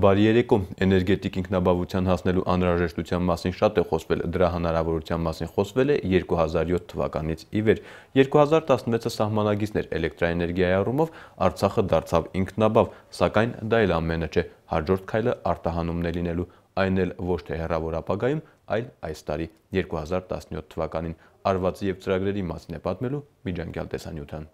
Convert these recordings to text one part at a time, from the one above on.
Բարի երեկո, էներգետիկ ինքնաբավության հասնելու անհրաժեշտության մասին շատ է խոսվել, դրա հնարավորության մասին խոսվել է 2007 թվականից ի վեր։ 2016-ը սահմանագիծն էր էլեկտրաէներգիայի առումով, Արցախը դարձավ ինքնաբավ, սակայն դա էլ ամենը չէ, հաջորդ քայլը արտահանումն է լինելու, այն էլ ոչ թե հեռավոր ապագայում, այլ այս տարի 2017 թվականին։ Արվածի եւ ծրագրերի մասին է պատմելու Միջանկյալ տեսանյութը։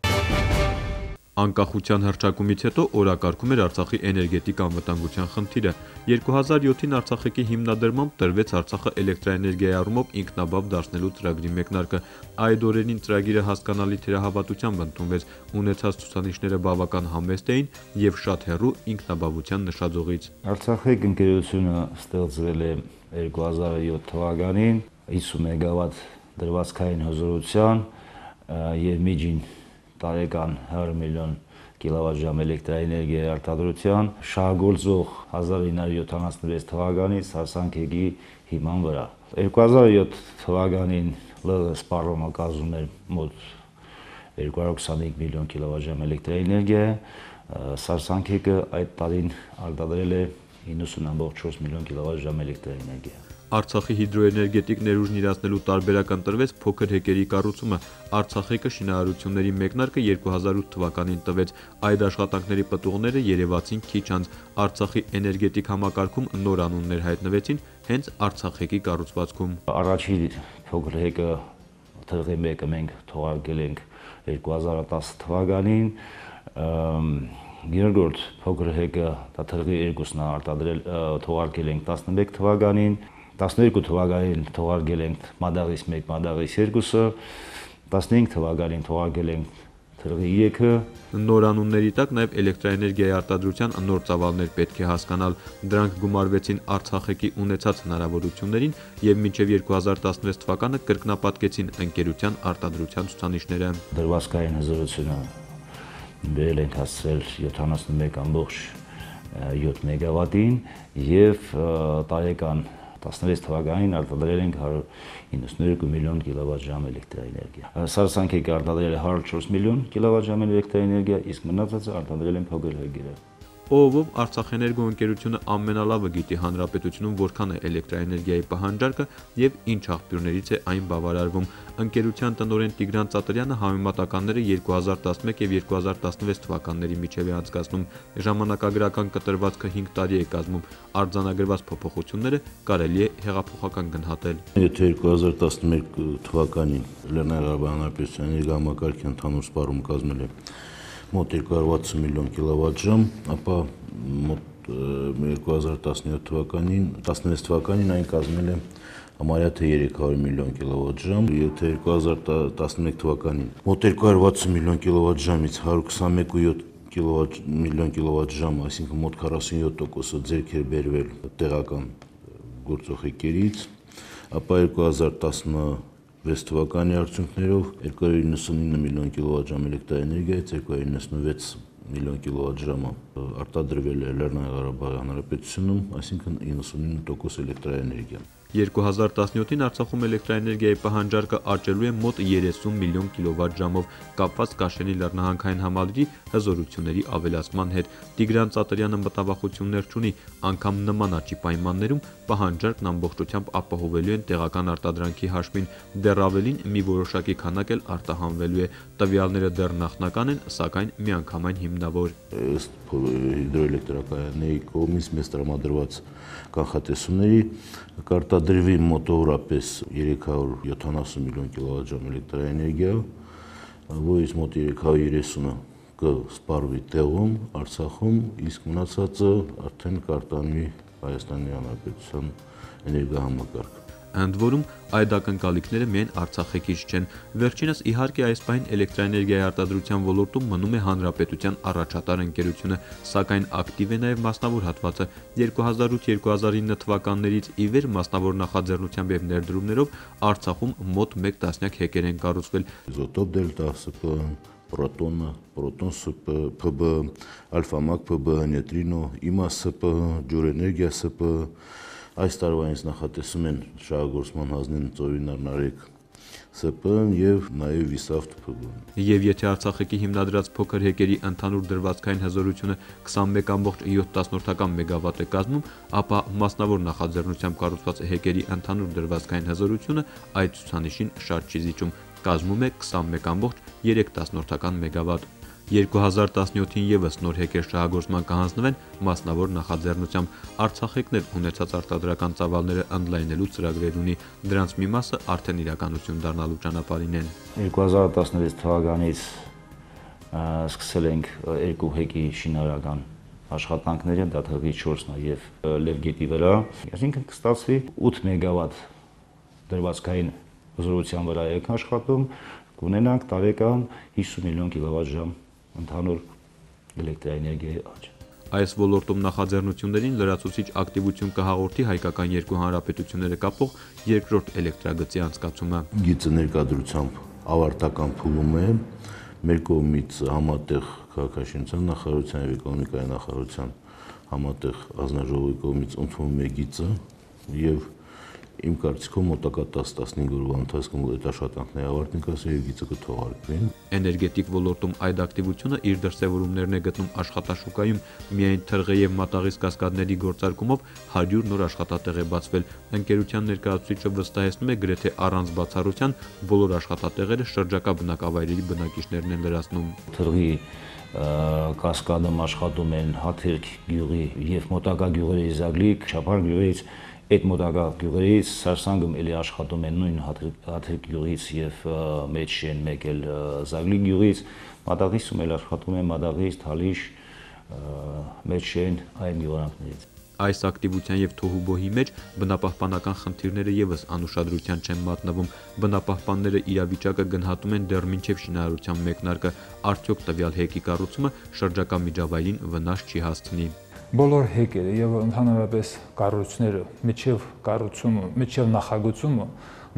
Անկախության հռչակումից հետո օրակարգում էր Արցախի էներգետիկ անվտանգության խնդիրը։ 2007-ին Արցախի հիմնադրամամբ տրվեց Արցախը էլեկտրաէներգիայի առումով ինքնաբավ դարձնելու ծրագրի մեկնարկը։ Այդ օրերին ծրագիրը հասկանալի թերահավատությամբ ընդունվեց, ունեցած ցուցանիշները բավական համեստ էին եւ շատ հեռու ինքնաբավության նշաձողից։ Արցախի ընկերությունը ստեղծվել է 2007 թվականին 50 մեգավատ դրվածքային հզորության եւ միջին տարեկան 100 միլիոն կիլովատժամ էլեկտրաէներգիայի արտադրության շահագործող 1976 թվականից հարսանքեկի հիման վրա։ 2007 թվականին ԼՂ սպառումը կազմում էր մոտ 225 միլիոն կիլովատժամ էլեկտրաէներգիա, սարսանքեկը այդ տարին արտադրել է 90.4 միլիոն կիլովատժամ էլեկտրաէներգիա։ Արցախի հիդրոէներգետիկ ներուժն իրացնելու տարբերակ ընտրվեց փոքր հեկերի կառուցումը։ Արցախեկը շինարարությունների մեկնարկը 2008 թվականին տվեց։ Այդ աշխատանքների պտուղները երևացին քիչ անց։ Արցախի էներգետիկ համակարգում նոր անուններ հայտնվեցին հենց Արցախեկի կառուցվածքում։ Առաջին փոքր հեկը թղթի 1-ը մենք թողարկել ենք 2010 թվականին, երկրորդ փոքր հեկը թղթի 2-ն արտադրել թողարկել ենք 11 թվականին, 12 թվականին թողարկել ենք մադաղից 1, մադաղից 2-ը, 15 թվականին թողարկել ենք թղթի 3-ը։ Նոր անունների տակ նաև էլեկտրաէներգիայի արտադրության նոր ծավալներ պետք է հասկանալ։ Դրանք գումարվեցին Արցախեկի ունեցած հնարավորություններին եւ մինչեւ 2016 թվականը կրկնապատկեցին ընկերության արտադրության ցուցանիշները։ Դրվածքային հզորությունը բերել ենք հասցրել 71.7 մեգավատին եւ տարեկան 16 թվականին արտադրել ենք 192 միլիոն կիլովատժամ էլեկտրաէներգիա։ Սարսանքեկը արտադրել է 104 միլիոն կիլովատժամ էլեկտրաէներգիա, իսկ մնացածը արտադրել են փոքր հեկերը։ Ով Արցախէներգո ընկերությունը ամենալավը գիտի հանրապետությունում որքան է էլեկտրաէներգիայի պահանջարկը եւ ինչ աղբյուրներից է այն բավարարվում։ Ընկերության տնօրեն Տիգրան Ծատրյանը համեմատականները 2011 եւ 2016 թվականների միջև է անցկացնում։ Ժամանակագրական կտրվածքը 5 տարի է կազմում։ Արձանագրված փոփոխությունները կարելի է հեղափոխական գնահատել։ Եթե 2011 թվականին Լեռնային Ղարաբաղի Հանրապետության էներգոհամակարգի ընդհանուր սպառումը կազմել է մոտ 260 միլիոն կիլովատժամ, ապա մոտ 2017 թվականին, 16 թվականին այն կազմել է համարյա թե 300 միլիոն կիլովատժամ, եթե 2011 թվականին մոտ 260 միլիոն կիլովատժամից 121.7 միլիոն կիլովատժամ, այսինքն մոտ 47%-ը ձեռք էր բերվել տեղական գործող հեկերից, ապա 2016 թվականի արդյունքներով 299 միլիոն կիլովատժամ էլեկտրաէներգիայից 296 միլիոն կիլովատժամը արտադրվել է Լեռնային Ղարաբաղի Հանրապետությունում, այսինքն 99% էլեկտրաէներգիա։ 2017-ին Արցախում էլեկտրաէներգիայի պահանջարկը աճելու է մոտ 30 միլիոն կիլովատժամով, կապված Կաշենի լեռնահանքային համալիրի հզորությունների ավելացման հետ։ Տիգրան Ծատրյանը մտավախություններ չունի, անգամ նման աճի պայմաններում պահանջարկն ամբողջությամբ ապահովելու են տեղական արտադրանքի հաշվին, դեռ ավելին մի որոշակի քանակ էլ արտահանվելու է։ Տվյալները դեռ նախնական են, սակայն միանգամայն հիմնավոր։ Ըստ հիդրոէլեկտրակայանների կողմից մեզ տրամադրված կանխատեսումների կարտադրվի մոտավորապես 370 միլիոն կիլովատժամ էլեկտրաէներգիա, որից մոտ 330-ը կսպառվի տեղում, Արցախում, իսկ մնացածը արդեն կարտանվի Հայաստանի Հանրապետության էներգոհամակարգ։ Ընդ որում այդ ակնկալիքները միայն Արցախեկից չեն։ Վերջինս իհարկե այս պահին էլեկտրաէներգիայի արտադրության ոլորտում մնում է հանրապետության առաջատար ընկերությունը, սակայն ակտիվ է նաև մասնավոր հատվածը։ 2008-2009 թվականներից ի վեր մասնավոր նախաձեռնությամբ եւ ներդրումներով Արցախում մոտ 1 տասնյակ հեկեր են կառուցվել։ Իզոտոպ դելտա ՍՊ, Պրոտոնը, Պրոտոն ՍՊ, ՓԲ, Ալֆամակ ՓԲ, Նեյտրինո, ԻՄԱ ՍՊ, Ջուրէներգիա ՍՊ, այս տարվանից նախատեսում են շահագործման հանձնել ծովի Նարնարեկ ՍՊԸ-ն եւ նաեւ Վիսավտ ՓԳ-ն։ Եվ եթե Արցախի հիմնադրած փոքր հեկերի ընդհանուր դրվածքային հզորությունը 21.7 մեգավատ է կազմում, ապա մասնավոր նախաձեռնությամբ կառուցված հեկերի ընդհանուր դրվածքային հզորությունը այդ ցուցանիշին շատ չի զիջում, կազմում է 21.3 մեգավատ։ 2017-ին եւս նոր հեկեր շահագործման կհանձնվեն մասնավոր նախաձեռնությամբ։ Արցախիկն էլ ունեցած արտադրական ծավալները ընդլայնելու ծրագրեր ունի, դրանց մի մասը արդեն իրականություն դառնալու ճանապարհին են։ 2016 թվականից սկսել ենք երկու հեկի շինարարական աշխատանքները, դա թվի 4 նաեւ Լևգետի վրա, այսինքն կստացվի 8 մեգավատ դրվածքային հզորության վրա եք աշխատում, կունենանք տարեկան 50 միլիոն կիլովատ-ժամ ընդհանուր էլեկտրաէներգիայի աճ։ Այս ոլորտում նախաձեռնություններին լրացուցիչ ակտիվություն կհաղորդի հայկական երկու հանրապետությունները կապող երկրորդ էլեկտրագծի անցկացումը։ Գիծը ներկայությամբ ավարտական փուլում է, մեր կողմից համատեղ քաղաքաշինության նախարարության եւ էկոնոմիկայի նախարարության համատեղ հանձնաժողովի կողմից ընդունվում է գիծը եւ իմ կարծիքով մոտակա 10-15 օրվա ընթացքում այդ աշխատանքները ավարտին կասի եւ գիծը կթողարկվեն։ Էներգետիկ ոլորտում այդ ակտիվությունը իր դրսևորումներն է գտնում աշխատաշուկայում, միայն թրղե եւ մատաղից կասկադների գործարկումով 100 նոր աշխատատեղ է բացվել։ Ընկերության ներկայացուցիչը վստահեցնում է, գրեթե առանց բացառության բոլոր աշխատատեղերը շրջակա բնակավայրերի բնակիչներն են լրացնում։ Թրղի կասկադում աշխատում են Հաթերք գյուղի եւ մոտակա գյուղերի Զագլիկ, Չափար գյուղից, այդ մոտակա գյուղերից Սարսանգում էլի աշխատում են նույն Հաթերք գյուղից եւ մեջ են մեկ էլ Զագլիկ գյուղից, Մադաղիսում էլ աշխատում են Մադաղիս, Թալիշ, մեջ են այլ գյուղարանքներից։ Այս ակտիվության եւ թոհուբոհի մեջ բնապահպանական խնդիրները եւս անուշադրության չեն մատնվում։ Բնապահպանները իրավիճակը գնահատում են դեռ մինչեւ շինարարության մեկնարկը, արդյոք տվյալ հեկի կառուցումը շրջակա միջավայրին վնաս չի հասցնի։ Բոլոր հեկերը եւ ընդհանրապես կառույցները միջև կառուցումը, միջև նախագծումը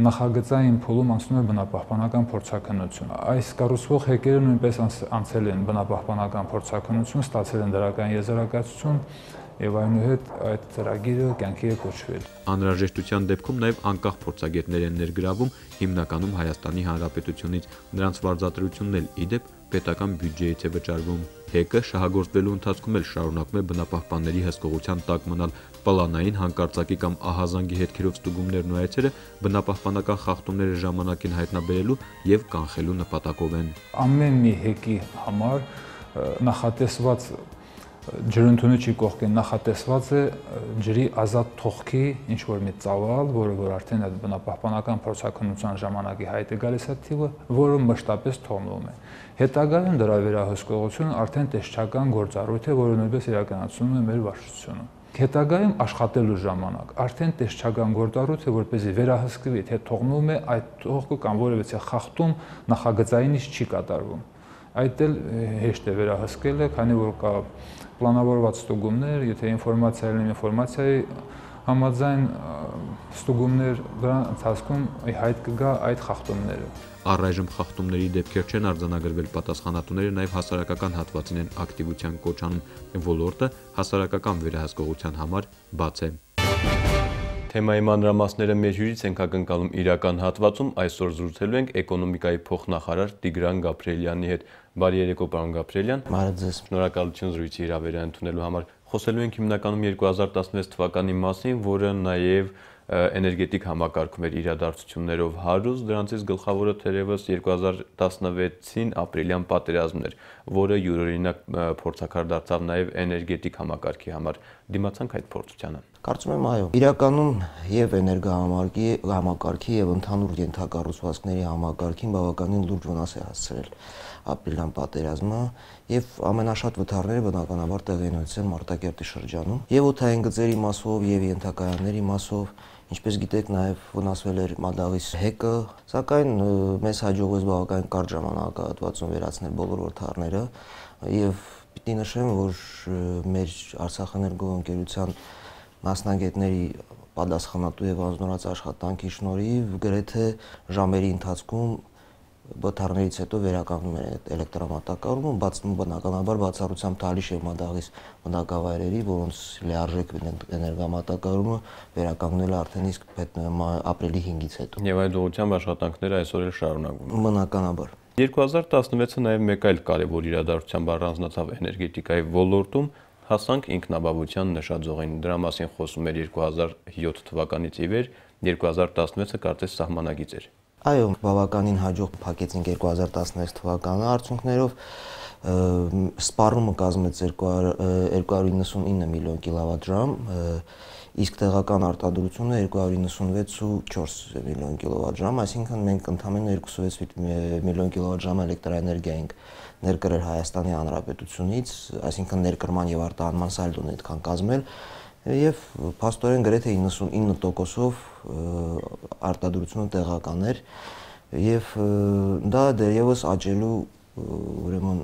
նախագծային փուլում անցնում է բնապահպանական փորձաքննություն։ Այս կառուցվող հեկերը նույնպես անցել են բնապահպանական փորձաքննություն, ստացել են դրական եզրակացություն եւ այնուհետ այդ ծրագիրը կյանքի է կոչվել։ Անհրաժեշտության դեպքում նաեւ անկախ փորձագետներ են ներգրավում, հիմնականում Հայաստանի Հանրապետությունից։ Նրանց վարձատրությունն էլ ի դեպ պետական բյուջեից է վճարվում։ Հեկը շահագործվելու ընթացքում էլ շարունակում է բնապահպանների հսկողության տակ մնալ։ Պլանային, հանկարծակի կամ ահազանգի հետքերով ստուգումներն ու այցերը բնապահպանական խախտումները ժամանակին հայտնաբերելու եւ կանխելու նպատակով են։ Ամեն մի հեկի համար նախատեսված ջրընդունիչի կողքին նախատեսված է ջրի ազատ թողքի ինչ-որ մի ծավալ, որը արդեն այդ բնապահպանական փորձաքննության ժամանակի հայտ է գալիս այդ թիվը, որը մշտապես թողնվում է։ Հետագայում դրա վերահսկողությունը արդեն տեսչական գործառույթ է, որը նույնպես իրականացնում է մեր վարչությունը։ Հետագայում աշխատելու ժամանակ արդեն տեսչական գործառույթ է, որպեսզի վերահսկվի, թե թողնում է այդ թողքը կամ որևէ խախտում նախագծայինից չի կատարվում։ Այդ էլ հեշտ է վերահսկելը, քանի որ կա պլանավորված ստուգումներ, եթե ինֆորմացիա լինի ինֆորմացիայի համաձայն ստուգումներ, դրա ընթացքում հայտ կգա այդ խախտումները։ Առայժմ խախտումների դեպքեր չեն արձանագրվել, պատասխանատուները նաև հասարակական հատվածին են ակտիվության կոչ անում, ոլորտը հասարակական վերահսկողության համար բաց է։ Թեմայի մանրամասները մեր հյուրից ենք ակնկալում իրական հատվածում, այսօր զրուցելու ենք էկոնոմիկայի փոխնախարար Տիգրան Գաբրիելյանի հետ։ Բարի երեկո, պարոն Գաբրիելյան։ Բարի ձեզ։ Շնորհակալություն զրույցի հրավերը ընդունելու համար։ Խոսելու ենք հիմնականում 2016 թվականի մասին, որը նաև էներգետիկ համակարգում էր իրադարձություններով հարուստ, դրանցից գլխավորը թերևս 2016-ին ապրիլյան պատերազմն էր, որը յուրօրինակ փորձաքար դարձավ նաև էներգետիկ համակարգի համար։ Դիմացանք այդ փորձությանը։ Կարծում եմ, այո, իրականում եւ էներգահամակարգի եւ ընդհանուր ենթակառուցվածքների համակարգին բավականին լուրջ վնաս է հասցրել ապրիլյան պատերազմը եւ ամենաշատ վթարները բնականաբար տեղի են ունեցել Մարտակերտի շրջանում եւ օդային գծերի մասով եւ ենթակայանների մասով, ինչպես գիտեք, նաեւ վնասվել էր Մադաղիս հեկը, սակայն մեզ հաջողվեց բավականին կարճ ժամանակահատվածում վերացնել բոլոր վթարները եւ պիտի նշեմ, որ մեր Արցախէներգո ընկերության մասնագետների պատասխանատու եւ անձնորոշ աշխատանքի շնորհիվ գրեթե ժամերի ընթացքում բթարներից հետո վերականգնում են էլեկտրամատակարարումը, բնականաբար բացառությամբ Թալիշ եւ Մադաղիս բնակավայրերի, որոնց լիարժեք էներգամատակարարումը վերականգնել է արդեն իսկ ապրիլի 5-ից հետո։ Եվ այդ ուղղությամբ աշխատանքները այսօր էլ շարունակվում են։ Բնականաբար 2016-ը նաև մեկ այլ կարևոր իրադարձությամբ առանձնացավ էներգետիկայի ոլորտում, հասանք ինքնաբավության նշաձողին։ Դրա մասին խոսում էր 2007 թվականից ի վեր, 2016-ը կարծես սահմանագիծ էր։ Այո, բավականին հաջող փակեցինք 2016 թվականի արդյունքներով, սպառումը կազմեց 299 միլիոն կիլովատժամ, իսկ տեղական արտադրությունը 296.4 միլիոն կիլովատժամ, այսինքն մենք ընդամենը 26 միլիոն կիլովատժամ էլեկտրաէներգիա ենք ներկրել Հայաստանի Հանրապետությունից, այսինքն ներկրման եւ արտահանման սալդոն այդքան կազմել եւ փաստորեն գրեթե 99%-ով արտադրությունը տեղական էր եւ դա դեռևս աճելու ուրեմն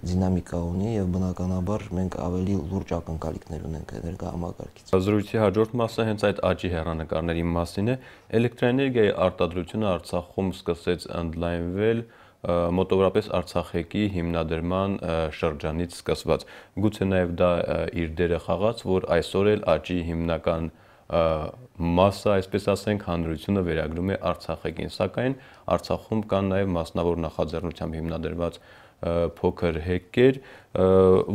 դինամիկա ունի եւ բնականաբար մենք ավելի լուրջ ակնկալիքներ ունենք էներգահամակարգից։ Զրույցի հաջորդ մասը հենց այդ աճի հեռանկարների մասին է։ Էլեկտրաէներգիայի արտադրությունը Արցախում սկսեց ընդլայնվել մոտավորապես Արցախեկի հիմնադրման շրջանից սկսված։ Գուցե նաև դա իր դերը խաղաց, որ այսօր էլ աճի հիմնական մասը, այսպես ասենք, հանրությունը վերագրում է Արցախեկին, սակայն Արցախում կան նաև մասնավոր նախաձեռնությամբ հիմնադրված փոքր հեկեր,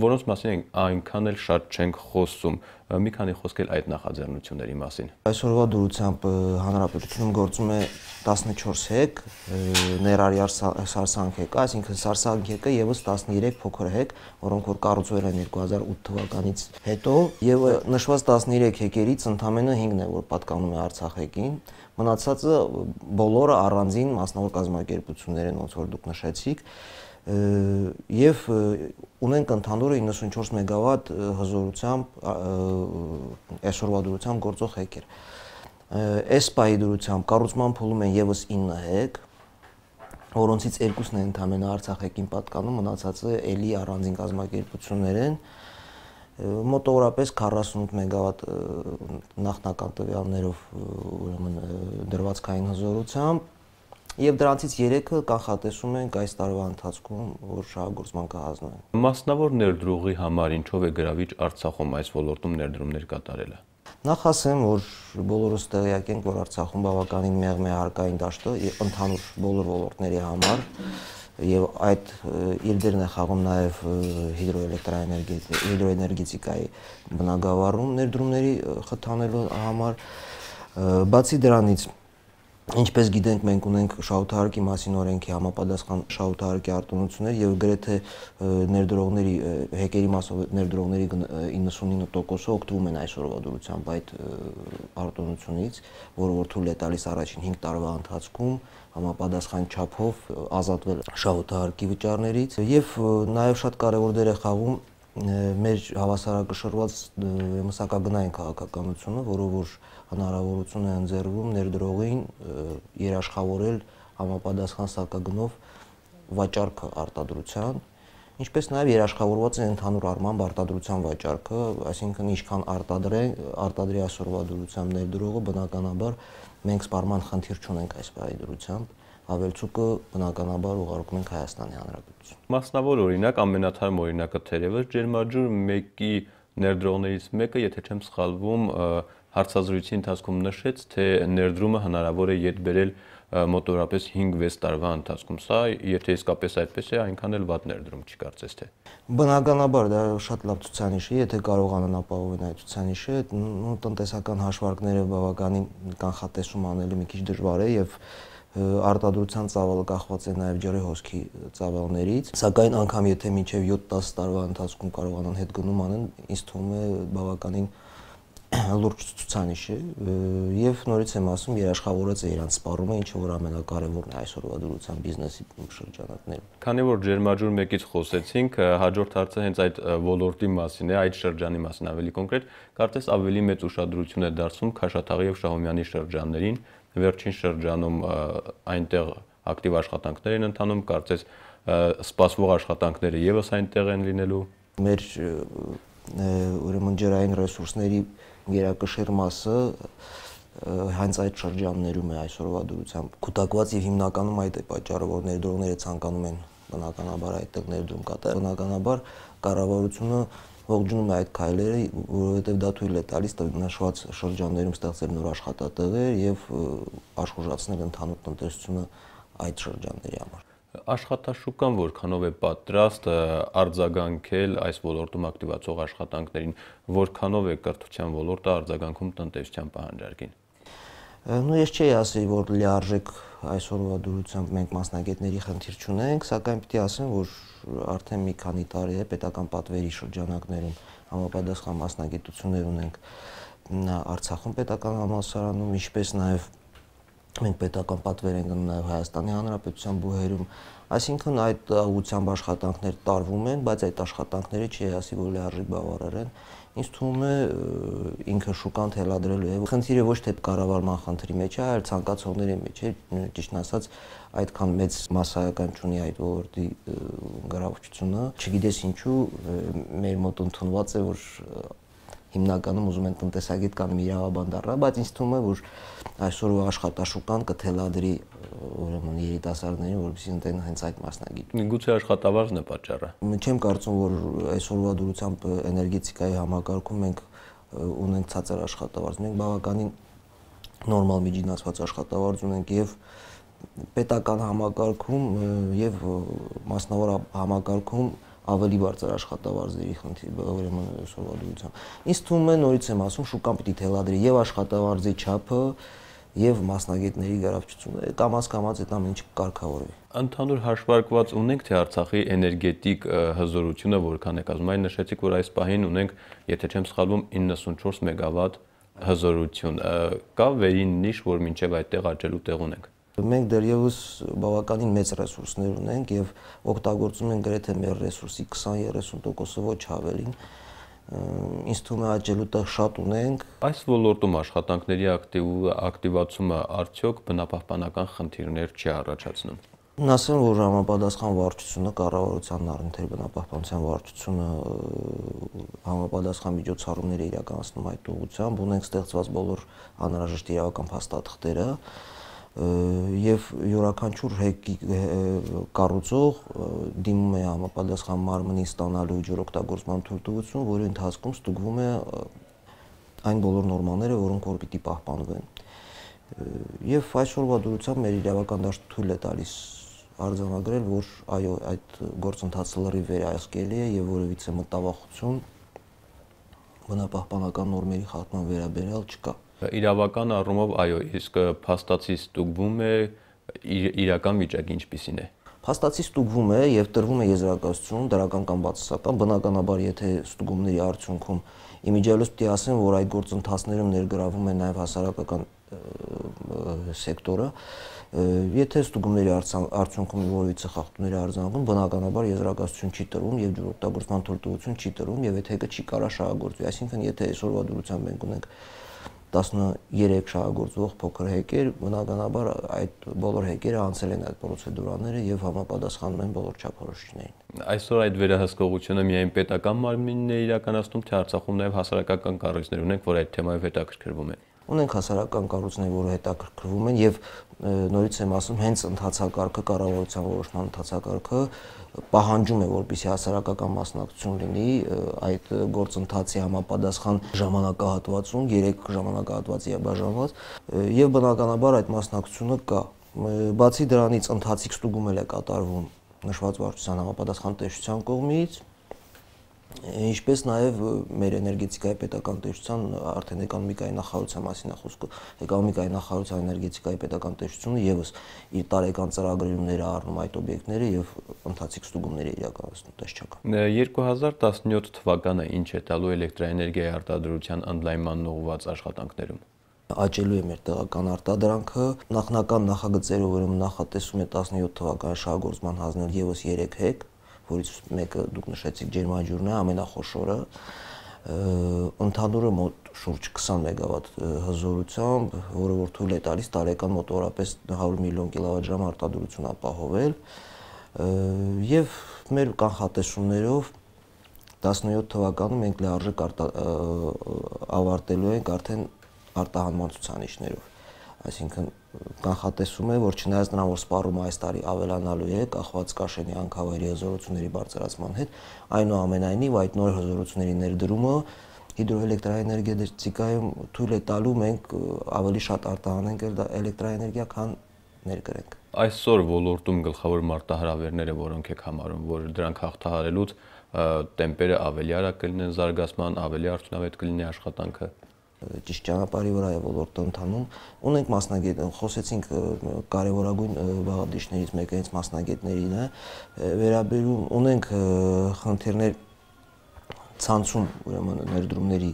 որոնց մասին այնքան էլ շատ չենք խոսում։ Մի քանի խոսք էլ այդ նախաձեռնությունների մասին։ Այսօրվա դրությամբ հանրապետությունում գործում է 14 հեկ, ներառյալ Սարսանք հեկը, այսինքն Սարսանք հեկը եւս 13 փոքր հեկ, որոնք որ կառուցվել են 2008 թվականից հետո, եւ նշված 13 հեկերից ընդամենը 5-ն է, որ պատկանում է Արցախեկին, մնացածը բոլորը առանձին մասնավոր կազմակերպություններ են, ոնց որ դուք նշեցիք, եւ ունենք ընդհանուր 94 մեգավատ հզորությամբ այսօրվա դրությամբ գործող հեկեր։ Այս պահի դրությամբ կառուցման փուլում են եւս 9 հեկ, որոնցից 2-ն են ընդամենը Արցախեկին պատկանում, մնացածը էլի առանձին կազմակերպություններ են, մոտավորապես 48 մեգավատ նախնական տվյալներով ուրեմն դրվածքային հզորությամբ եւ դրանցից 3-ը կանխատեսում ենք այս տարվա ընթացքում, որ շահագործման կհանձնվեն։ Մասնավոր ներդրողի համար ինչով է գրավիչ Արցախում այս ոլորտում ներդրումներ կատարելը։ Նախ ասեմ, որ բոլորս տեղյակ ենք, որ Արցախում բավականին մեղմ է հարկային դաշտը ընդհանուր բոլոր ոլորտների համար եւ այդ իր դերն է խաղում նաեւ հիդրոէներգետիկայի բնագավառում ներդրումների խթանելու համար։ Բացի դրանից, ինչպես գիտենք, մենք ունենք շահութահարկի մասին օրենքի համապատասխան շահութահարկի արտոնություններ եւ գրեթե ներդրողների հեկերի մասով ներդրողների 99%-ը օգտվում են այսօրվա դրությամբ այդ արտոնությունից, որը որ թույլ է տալիս առաջին 5 տարվա ընթացքում համապատասխան չափով ազատվել շահութահարկի վճարներից եւ նաեւ շատ կարեւոր դեր է խաղում մեր հավասարակշռված մսակագնային քաղաքականությունը, որով որ հնարավորություն է ընձեռվում ներդրողին երաշխավորել համապատասխան սակագնով վաճառքը արտադրության, ինչպես նաև երաշխավորված է ընդհանուր առմամբ արտադրության վաճառքը, այսինքն ինչքան արտադրի այսօրվա դրությամբ ներդրողը, բնականաբար մենք սպառման խնդիր չունենք այս պահի դրությամբ, ավելցուկը բնականաբար ուղարկում ենք Հայաստանի Հանրապետություն։ Մասնավոր օրինակ, ամենաթարմ օրինակը թերևս Ջերմաջուր 1-ի ներդրողներից մեկը, եթե չեմ սխալվում, հարցազրույցի ընթացքում նշեց, թե ներդրումը հնարավոր է յետ բերել մոտավորապես 5-6 տարվա ընթացքում։ Սա, եթե իսկապես այդպես է, այնքան էլ վատ ներդրում չի կարծես թե։ Բնականաբար դա շատ լավ ցուցանիշ է, եթե կարողանան ապահովել այդ ցուցանիշը, տնտեսական հաշվարկները բավականին կանխատեսում անելը մի քիչ դժվար է եւ արտադրության ծավալը կախված է նաև ջրի հոսքի ծավալներից, սակայն անգամ եթե մինչև 7-10 տարվա ընթացքում կարողանան հետ գնում անեն, ինձ թվում է բավականին լուրջ ցուցանիշ է եւ նորից եմ ասում, երաշխավորած է իրանց սպառումը, ինչը որ ամենակարևորն է այսօրվա դրության բիզնեսի շրջանակներում։ Քանի որ Ջերմաջուր 1-ից խոսեցինք, հաջորդ հարցը հենց այդ ոլորտի մասին է, այդ շրջանի մասին ավելի կոնկրետ, կարծես ավելի մեծ ուշադրություն է դարձվում Քաշաթաղի եւ Շահումյանի շրջաններին, վերջին շրջանում այնտեղ ակտիվ աշխատանքներ են ընթանում, կարծես սպասվող աշխատանքները եւս այնտեղ են լինելու։ Մեր ուրեմն ջրային ռեսուրսների գերակշիռ մասը հենց այդ շրջաններում է այսօրվա դրությամբ կուտակված եւ հիմնականում այդ է պատճառը, որ ներդրողները ցանկանում են բնականաբար այդտեղ ներդրում կատարել։ Բնականաբար կառավարությունը ողջունում է այդ քայլերը, որովհետեւ դա թույլ է տալիս նշված շրջաններում ստեղծել նոր աշխատատեղեր եւ աշխուժացնել ընդհանուր տնտեսությունը այդ շրջանների համար։ Աշխատաշուկան որքանով է պատրաստ արձագանքել այս ոլորտում ակտիվացող աշխատանքներին, որքանով է կրթության ոլորտը արձագանքում տնտեսության պահանջարկին։ Ես չէի ասի, որ լիարժեք այսօրվա դրությամբ մենք մասնագետների խնդիր չունենք, սակայն պիտի ասեմ, որ արդեն մի քանի տարի է պետական պատվերի շրջանակներում համապատասխան մասնագիտություններ ունենք Արցախում պետական համալսարանում, ինչպես նաև մենք պետական պատվեր ենք գնում նաև Հայաստանի Հանրապետության բուհերում, այսինքն այդ ուղղությամբ աշխատանքներ տարվում են, բայց այդ աշխատանքները չի ասի, որ լիարժեք բավարար են։ Ինձ թվում է ինքը շուկան թելադրելու է։ Խնդիրը ոչ թե կառավարման խնդրի մեջ է, այլ ցանկացողների մեջ է, ճիշտն ասած, այդքան մեծ մասսայական չունի այդ ոլորտի գրավչությունը։ Չգիտես ինչու մեր մոտ ընդունված է, որ հիմնականում ուզում են տնտեսագետ կամ իրավաբան դառնալ, բայց ինձ թվում է, որ այսօրվա աշխատաշուկան կթելադրի ուրեմն երիտասարդներին, որովհետեւ ընտեն հենց այդ մասնագիտությունը։ Գուցե աշխատավարձն է պատճառը։ Չեմ կարծում, որ այսօրվա դրությամբ էներգետիկայի համակարգում մենք ունենք ցածր աշխատավարձ։ Մենք բավականին նորմալ միջինացված աշխատավարձ ունենք եւ պետական համակարգում եւ մասնավոր համակարգում ավելի բարձր աշխատավարձերի խնդիր, ուրեմն այսօրվա դրությամբ։ Ինձ թվում է, նորից եմ ասում, շուկան պիտի թելադրի եւ աշխատավարձի չափը եւ մասնագետների գրավչությունը, կամաց-կամաց այդ ամեն ինչը կարգավորվի։ Ընդհանուր հաշվարկված ունենք, թե Արցախի էներգետիկ հզորությունը որքան է կազմում։ Այն նշեցիք, որ այս պահին ունենք, եթե չեմ սխալվում, 94 մեգավատ հզորություն։ Կա վերին նիշ, որ մինչեւ այդտեղ աճելու տեղ ունենք։ Մենք դեռևս բավականին մեծ ռեսուրսներ ունենք եւ օգտագործում ենք գրեթե մեր ռեսուրսի 20-30%-ը, ոչ ավելին։ Ինձ թվում է աճելու տեղ շատ ունենք։ Այս ոլորտում աշխատանքների ակտիվացումը արդյոք բնապահպանական խնդիրներ չի առաջացնում։ Ասեմ, որ համապատասխան վարչությունը, կառավարության առընթեր բնապահպանության վարչությունը համապատասխան միջոցառումներ է իրականացնում այդ ուղղությամբ, ունենք ստեղծված բոլոր անհրաժեշտ իրավական փաստաթղթերը եւ յուրաքանչյուր կառուցող դիմում է համապատասխան մարմնի ստանալու ջրօգտագործման թույլտվություն, որի ընթացքում ստուգվում է այն բոլոր նորմաները, որոնք որ պիտի պահպանվեն։ Եվ այսօրվա դրությամբ մեր իրավական դաշտը թույլ է տալիս արձանագրել, որ այո, այդ գործընթացը լրիվ վերահսկելի է եւ որևիցե մտավախություն բնապահպանական նորմերի խախտման վերաբերյալ չկա։ Իրավական առումով այո, իսկ փաստացի ստուգվում է իրական վիճակը ինչպիսին է։ Փաստացի ստուգվում է եւ տրվում է եզրակացություն, դրական կամ բացասական, բնականաբար եթե ստուգումների արդյունքում իմիջիալոց պիտի ասեմ, որ այդ գործընթացներում ներգրավում է նաեւ հասարակական սեկտորը, եթե ստուգումների արդյունքում որևիցե խախտումների արձանագրում, բնականաբար եզրակացություն չի տրվում եւ ջրօգտագործման թույլտվություն չի տրվում եւ այդ հեքը չի կարա շահագործվի։ Այսինքն եթե այսօրվա դրությամբ մենք ունենք 13 շահագործվող փոքր հեկեր, բնականաբար այդ բոլոր հեկերը անցել են այդ պրոցեդուրաները եւ համապատասխանում են բոլոր չափորոշիչներին։ Այսօր այդ վերահսկողությունը միայն պետական մարմինն է իրականացնում, թե Արցախում նաեւ հասարակական կառույցներ ունենք, որ այդ թեմայով հետաքրքրվում են։ Ունենք հասարակական կառույցներ, որը հետաքրքրվում են եւ նորից եմ ասում, հենց ընթացակարգը, կառավարության որոշման ընթացակարգը պահանջում է, որպեսզի հասարակական մասնակցություն լինի այդ գործընթացի համապատասխան ժամանակահատվածում, 3 ժամանակահատվածի է բաժանված եւ բնականաբար այդ մասնակցությունը կա։ Բացի դրանից ընթացիկ ստուգում է կատարվում նշված վարչության համապատասխան տեսչության կողմից, ինչպես նաև մեր էներգետիկայի պետական տեսչության արդեն էկոնոմիկայի նախարարության մասին է խոսքը, էկոնոմիկայի նախարարության էներգետիկայի պետական տեսչությունը եւս իր տարեկան ծրագրերումները առնում այդ օբյեկտները եւ ընթացիկ ստուգումներ է իրականացնում տեսչական։ 2017 թվականը ինչ է տալու էլեկտրաէներգիայի արտադրության ընդլայնման ուղղված աշխատանքներում։ Աճելու է մեր տեղական արտադրանքը, նախնական նախագծերով ուրեմն նախատեսում է 17 թվականի շահագործման հանձնել եւս 3 հեկ, որից մեկը դուք նշեցիք ջերմաջուրն է, ամենախոշորը, ընդհանուրը մոտ շուրջ 20 մեգավատ հզորությամբ, որը որ թույլ է տալիս տարեկան մոտավորապես 100 միլիոն կիլովատ ժամ արտադրություն ապահովել, եւ մեր կանխատեսումներով 17 թվականում մենք լիարժեք ավարտելու ենք արդեն արտահանման ցուցանիշներով։ Այսինքն կանխատեսում է, որ չնայած նրան, որ սպառումը այս տարի ավելանալու է, կախված Կաշենի անքավայրի հզորությունների բարձրացման հետ, այնուամենայնիվ այդ նոր հզորությունների ներդրումը հիդրոէլեկտրաէներգետիկայում թույլ է տալու մենք ավելի շատ արտահանենք էլեկտրաէներգիա, քան ներկրենք։ Այսօր ոլորտում գլխավոր մարտահրավերները որոնք եք համարում, որ դրանք հաղթահարելուց տեմպերը ավելի արագ կլինեն զարգացման, ավելի արդյունավետ կլինի աշխատանքը։ Ճիշտ ճանապարհի վրա է ոլորտը ընթանում։ Ունենք մասնագետ, խոսեցինք կարևորագույն բաղադրիչներից մեկը հենց մասնագետներին է, վերաբերում ունենք խնդիրներ ցանցում, ուրեմն ներդրումների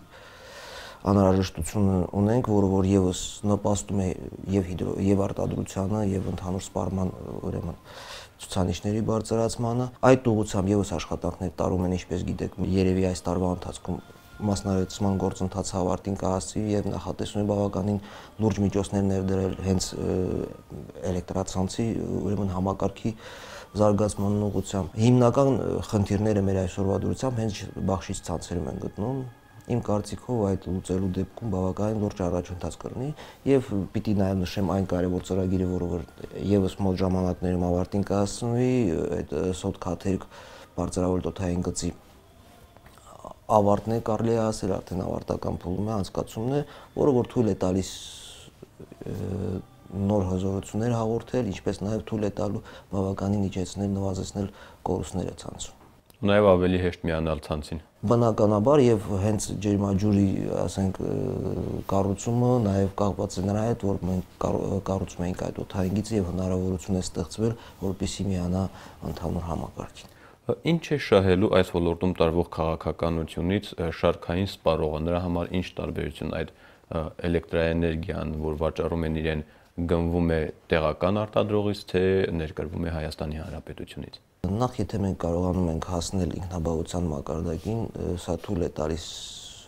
անհրաժեշտություն ունենք, որ եւս նպաստում է եւ արտադրությանը եւ ընդհանուր սպառման ուրեմն ցուցանիշների բարձրացմանը։ Այդ ուղղությամբ եւս աշխատանքներ տարում են, ինչպես գիտեք, երևի այս տարվա ընթացքում մասնարարեցման գործընթացը ավարտին կհասցվի եւ նախատեսում է բավականին լուրջ միջոցներ ներդրել հենց էլեկտրացանցի ուրեմն համակարգի զարգացման ուղղությամբ։ Հիմնական խնդիրները մեր այսօրվա դրությամբ հենց բաշխից ցանցերում են գտնում։ Իմ կարծիքով այդ լուծելու դեպքում բավականին լուրջ առաջընթաց կլինի եւ պիտի նաեւ նշեմ այն կարեւոր ծրագիրը, որը եւս մոտ ժամանակներում ավարտին կհասցնվի, այդ սոթ քաթերք բարձրավոլտային գծի ավարտն է, կարելի է ասել, արդեն ավարտական փուլում է, անցկացումն է, որը որ թույլ է տալիս նոր հզորություններ հաղորդել, ինչպես նաև թույլ է տալու բավականին իջեցնել, նվազեցնել կորուստները ցանցում։ Նաև ավելի հեշտ միանալ ցանցին։ Բնականաբար եւ հենց ջերմաջուրի, ասենք, կառուցումը նաև կապված է նրա հետ, որ մենք կառուցում ենք այդ օդային գիծը եւ հնարավորություն է ստեղծվել, որպեսզի միանա ընդհանուր համակարգին։ Ինչ է շահելու այս ոլորտում տարվող քաղաքականությունից շարքային սպառողը, նրա համար ինչ տարբերություն այդ էլեկտրաէներգիան, որ վաճառում են իրեն, գնվում է տեղական արտադրողից, թե ներկրվում է Հայաստանի Հանրապետությունից։ Նախ եթե մենք կարողանում ենք հասնել ինքնաբավության մակարդակին, սա թույլ է տալիս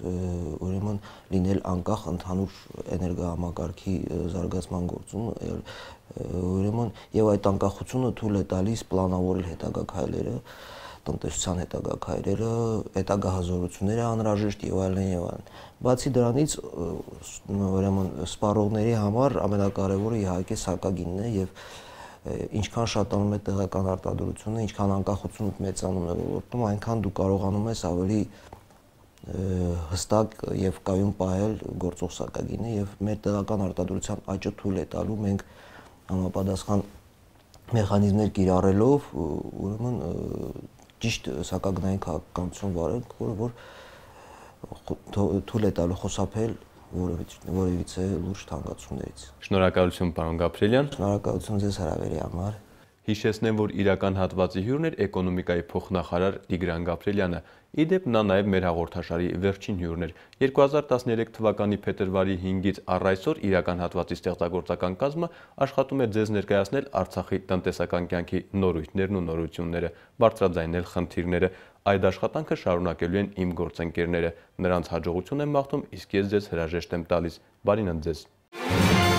ուրեմն լինել անկախ ընդհանուր էներգահամակարգի զարգացման գործում, ուրեմն եւ այդ անկախությունը թույլ է տալիս պլանավորել հետագա քայլերը, տնտեսության հետագա քայլերը, հետագա հզորությունները անհրաժեշտ եւ այլն եւ այլն։ Բացի դրանից ուրեմն սպառողների համար ամենակարևորը իհարկե սակագինն է եւ ինչքան շատանում է տեղական արտադրությունը, ինչքան անկախությունը մեծանում է ոլորտում, այնքան դու կարողանում ես ավելի հստակ եւ կայուն պահել գործող սակագինը եւ մեր տեղական արտադրության աճը թույլ է տալու մենք համապատասխան մեխանիզմներ կիրառելով ուրեմն ճիշտ սակագնային քաղաքականություն վարենք, որ թույլ է տալու խուսափել որևիցե լուրջ թանկացումներից։ Շնորհակալություն, պարոն Գաբրելյան։ Շնորհակալություն ձեզ հրավերի համար։ Հիշեցնեմ, որ իրական հատվածի հյուրն էր էկոնոմիկայի փոխնախարար Տիգրան Գաբրելյանը։ Իդեպ նա նաև մեր հաղորդաշարի վերջին հյուրն էր։ 2013 թվականի փետրվարի 5-ից առ այսօր իրական հատվածի ստեղծագործական կազմը աշխատում է ձեզ ներկայացնել Արցախի տնտեսական կյանքի նորույթներն ու նորությունները, բարձրաձայնել խնդիրները։ Այդ աշխատանքը շարունակելու են իմ գործընկերները։ Նրանց հաջողություն եմ մաղթում, իսկ ես ձեզ հրաժեշտ եմ տալիս։ Բարին ընդ ձեզ։